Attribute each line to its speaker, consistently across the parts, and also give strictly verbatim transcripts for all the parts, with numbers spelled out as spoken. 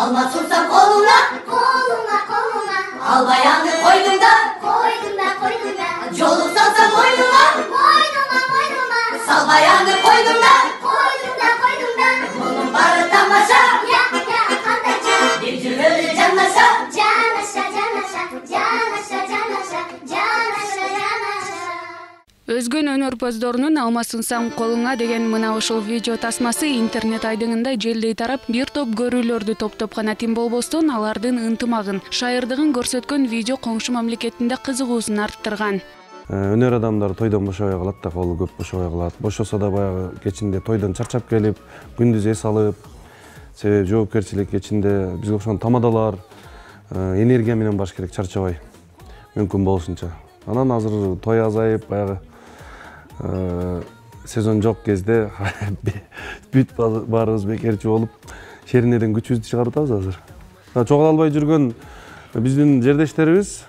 Speaker 1: Alma tutsam koluna,
Speaker 2: koluna koluna,
Speaker 1: albayanı koydum da,
Speaker 2: koydum da koydum da,
Speaker 1: yolu salsam boynuma,
Speaker 2: boynuma boynuma,
Speaker 1: salbayanı koydum da,
Speaker 2: koydum da koydum da,
Speaker 1: bunun barı tamaşa,
Speaker 2: ya ya kandayca,
Speaker 1: bir cümleli canlaşa,
Speaker 2: canaşa canaşa, canaşa canaşa, canaşa canaşa.
Speaker 3: Өзгөн өнөрпоздорунун алмасынсаң колуңа деген мына ушул видео тасмасы интернет айдыңында желдей тарап, бир топ көрүүлөрдү топтоп гана тим болбостон алардын ынтымагын, шайырдыгын көрсөткөн видео коңшу мамлекетинде кызыгуусун арттырган.
Speaker 4: Өнөр адамдары тойдон бошобой калат да, колу көп бошобой калат. Бошосо да баягы кечинде тойдон чарчап келип, күндүз эс алып, себеби жоопкерчилик кечинде бизге окшогон тамадалар, энергия менен баш керек, чарчабай, мүмкүн болушунча. Анан азыр той азайып, баягы сезон жок кезде бүт баарыбыз бекерчи болуп, шеринеден күчүбүздү чыгарып атабыз азыр. Чогула албай жүргөн биздин жердештерибиз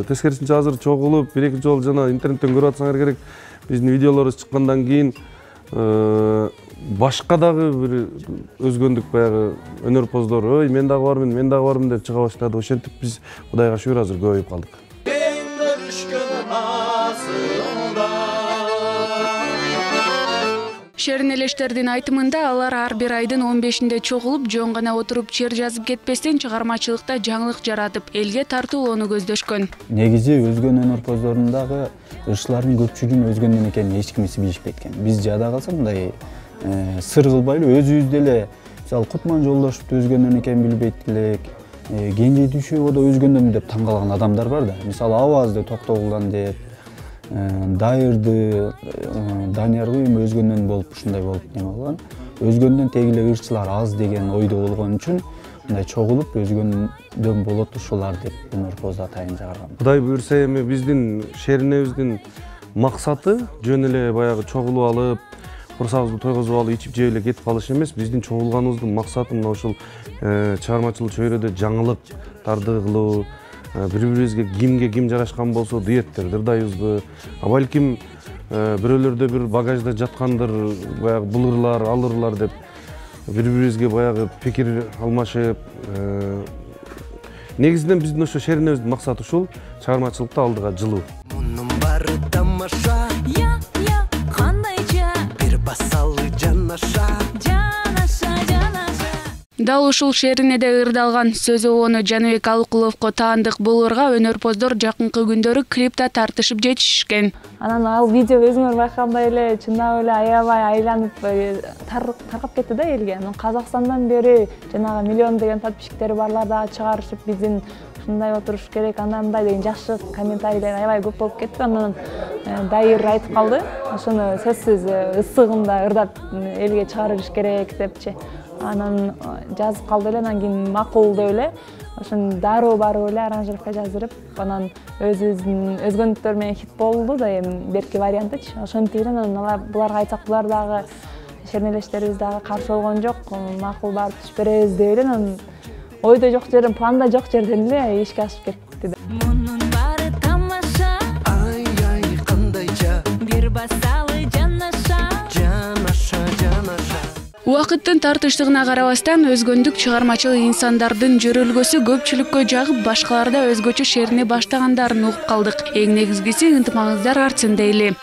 Speaker 4: тескерисинче азыр чогулуп, бир-эки жолу жана интернеттен көрүп атсаңар керек, биздин видеолорубуз чыккандан кийин башка дагы бир өзгөндүк баягы өнөрпоздор, ой, мен дагы бармын, мен дагы бармын деп чыга баштады. Ошентип биз Кудайга шүгүр азыр көбөйүп калдык.
Speaker 3: Шеринелештердин айтымында алар ар бир айдын он бешинде чогулуп, жөн гана отуруп чер жазып кетпестен чыгармачылыкта жаңылык жаратып, элге тартуулоону көздөшкөн.
Speaker 5: Негизи өзгөн өнөрпоздордун дагы ырчылардын көпчүлүгүн өзгөндөн экенин эч кимиси билишпейт экен. Биз жада калсак мындай сыр кылбайлы өзүбүз деле, мисалы Кутман Жолдошевду өзгөндөн экенин билбейт элек, Кенже Дүйшөбодо өзгөндөн деп таң калган адамдар бар да. Мисалы Авазды Токтогулдан деп, Дайырды, Даниярга эми өзгөндөн болуп ушундай болуп неме болгон. Өзгөндөн тегиле ырчылар аз деген ойдо болгон үчүн мындай чогулуп өзгөндөн болот ушулар деп өнөрпоз атайын чыгарган.
Speaker 4: Кудай буйрса эми биздин шеринебиздин максаты жөн эле баягы чогулуп алып, курсагыбызды тойгозуп алып, ичип жеп эле кетип калыш эмес. Биздин чогулганыбыздын максаты мына ушул чыгармачылык чөйрөдө жаңылыктарды кылуу, бири-бирибизге кимге ким жарашкан болсо дуэттерди ырдайбызбы, а балким бирөөлөрдө бир багажда жаткандыр, баягы бул ырлар, ал ырлар деп бири-бирибизге баягы пикир алмашып, негизинен биздин ошо шеринебиздин максаты ушул, чыгармачылыкта алдыга жылуу.
Speaker 6: Мунун бары тамаша, я я кандайча, бир басалы жанаша.
Speaker 3: Дал ушул шеринеде ырдалган сөз обону Жаныбек Алыкуловго таандык болорго өнөрпоздор жакынкы күндөрү клипте тартышып жетишишкен.
Speaker 7: Анан ал видео өзүңөр байкагандай эле чындап эле аябай айланып таркап кетти да элге. Анан Казакстандан бери жанагы миллион деген подписчиктери барлар дагы чыгарышып, биздин ушундай отуруш керек, андай мындай деген жакшы комментарийлер аябай көп болуп кетти. Анан Дайыр айтып калды, ошону сөзсүз ысыгында ырдап элге чыгарыш керек депчи. Анан жазып калды эле, анан кийин макул деп эле ошон дароо барып эле аранжировка жаздырып, анан өзүбүздүн өзгөнтүктөр менен хит болду да, эми берки вариантычы. Ошентип эле анан алар буларга айтсак, булар дагы шеринелештерибиз дагы каршы болгон жок, макул барып түшүп беребиз деп эле анан ойдо жок жерден, планда жок жерден эле ишке ашып кетти.
Speaker 8: Мунун баары тамаша,
Speaker 6: Ай ай кандайча,
Speaker 8: бир басалы жанаша.
Speaker 3: Убакыттын тартыштыгына карабастан өзгөндүк чыгармачыл инсандардын жөрөлгөсү көпчүлүккө жагып, башкаларда өзгөчө шерине баштагандарын угуп калдык. Эң негизгиси ынтымагыңыздар артсын дейли.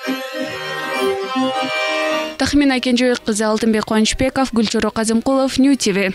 Speaker 3: Тахмина Кенжебек кызы, Алтынбек Кубанычбеков, Гүлчоро Казымкулов, Нью ти ви.